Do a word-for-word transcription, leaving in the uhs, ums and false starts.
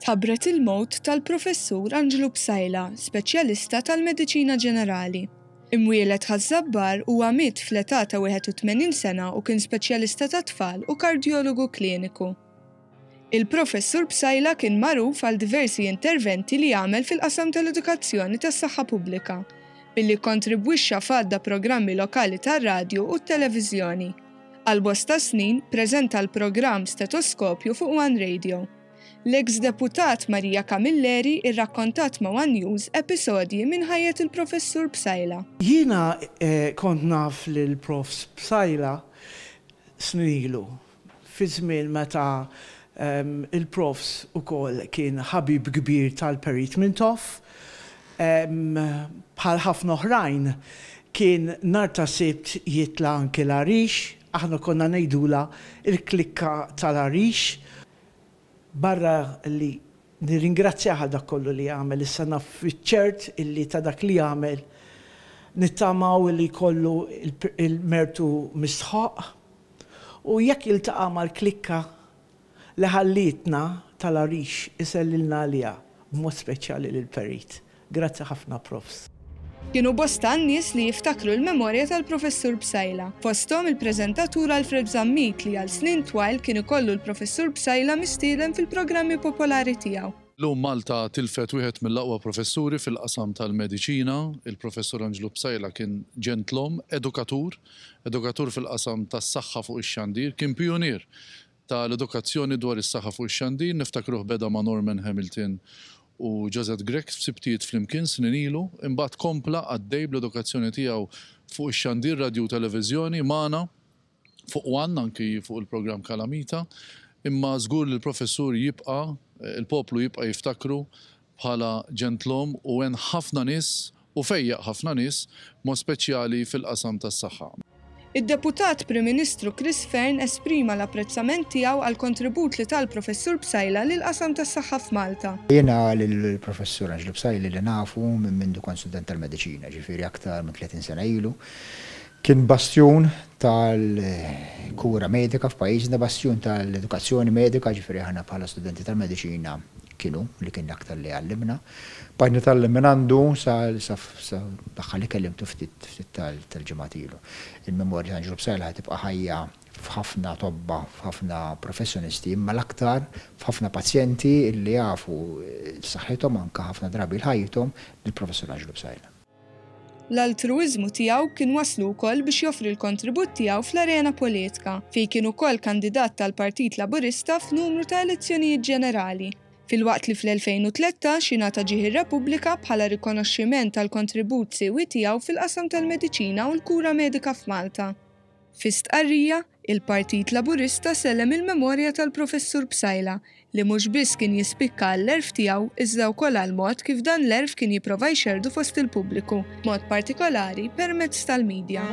Tħabbret il-mewt tal-Professur Anġlu Psaila, speċjalista tal-mediċina ġenerali. Imwieled Ħaż-Żabbar, huwa miet fl-età ta' wieħed u tmenin sena u kien speċjalista ta' tfal u kardjologu kliniku. Il-Professur Psaila kien magħruf għal diversi interventi li għamel fil-qasam tal-edukazzjoni tas-saħħa pubblika, billi kontribwixxa f'għadd ta' programmi lokali tar-radju u t-televiżjoni. Għal bosta snin preżenta l-programm Stetoskopju fuq One Radio. L-ex deputat Maria Camilleri irrakkontat ma' One News episodji minn ħajjet il-Professur Psaila. Jiena eh, kont naf lil Profs Psaila snin ilu, fi żmien meta um, il-Profs ukoll kien ħabib kbir tal-Perit Mintoff, um, bħal ħafna oħrajn kien nhar ta' Sibt jitla' anki l-Għarix, aħna konna ngħidulha il-klikka tal-Għarix. Barra li nirringrazzjah għal dak kollu li għamel, issa naf ċert illi ta' dak li għamel nittamaw li kollu il-mertu mistħoq u jekk jiltaqa' mal-klikka li ħallitna tal-Għarix isellilna għalija, b'mod speċjali lill-Perit. Grazzi ħafna, Profs. Kienu bosta n-nies li jiftakru l-memorja tal-Professur Psaila. Fosthom il-preżentatur Alfred Zammit, li għal snin twal kien ikollu l-Professur Psaila mistieden fil-programmi popolari tiegħu. Illum Malta tilfet wieħed mill-aqwa professuri fil-qasam tal-mediċina. Il-Professur Anġlu Psaila kien ġentlom, edukatur, edukatur fil-qasam tas-saħħa fuq ix-xandir, kien pionier tal-edukazzjoni dwar is-saħħa fuq ix-xandir, niftakruh beda ma' Norman Hamilton u Josette Grech f'Sibtijiet Flimkien snin ilu, imbagħad kompla għaddej bl-edukazzjoni tiegħu fuq ix-xandir, radio u televiżjoni magħna fuq One, anki fuq il-programm Kalamita, imma żgur li l-professur jibqa', il-poplu jibqa' jiftakru bħala ġentlom u għen ħafna nies u fejjaq ħafna nies, mod speċjali fil-qasam tas-saħħa. Id-Deputat Prim Ministru Chris Fearne esprima l-apprezzament tiegħu għal kontribut li tal-Professur Psaila lil qasam tas-saħħa f'Malta. Jiena lill-Professur Anġlu Psaila li nafu minn mindu kont student tal-mediċina, ġifieri aktar minn tletin sena ilu. Kien bastjun tal-kura medika f'pajjiżna, bastjun tal-edukazzjoni medika, ġifieri aħna bħala studenti tal-mediċina kienu li kien aktar li għallimna. Bqajt nitgħallem minn għandu sa l-aħħar li kellimtu ftit ftit tal-ġimgħat ilu. Il-memorja ta' Anġlu Psaila tibqa' ħajja f'ħafna tobba, f'ħafna professjonisti, imma l-aktar f'ħafna pazjenti li jafu saħħithom, anka ħafna drabi l-ħajjithom, lill-Professur Anġlu Psaila. L-altruizmu tiegħu kien waslu wkoll biex joffri l-kontribut tiegħu fl-arena politika, fejn kien ukoll kandidat tal-Partit Laburista f'numru ta' elezzjonijiet ġenerali, filwaqt li fl-elfejn u tlettax jingħata Ġieħ ir-Repubblika bħala rikonoxximent tal-kontribut siewi tiegħu fil-qasam tal-mediċina u l-kura medika f'Malta. Fi stqarrija, il-Partit Laburista sellem il-memorja tal-Professur Psaila, li mhux biss kien jispikka għall-għerf tiegħu iżda wkoll għal mod kif dan l-għerf kien jipprova jxerdu fost il-pubbliku, mod partikolari permezz tal-medja.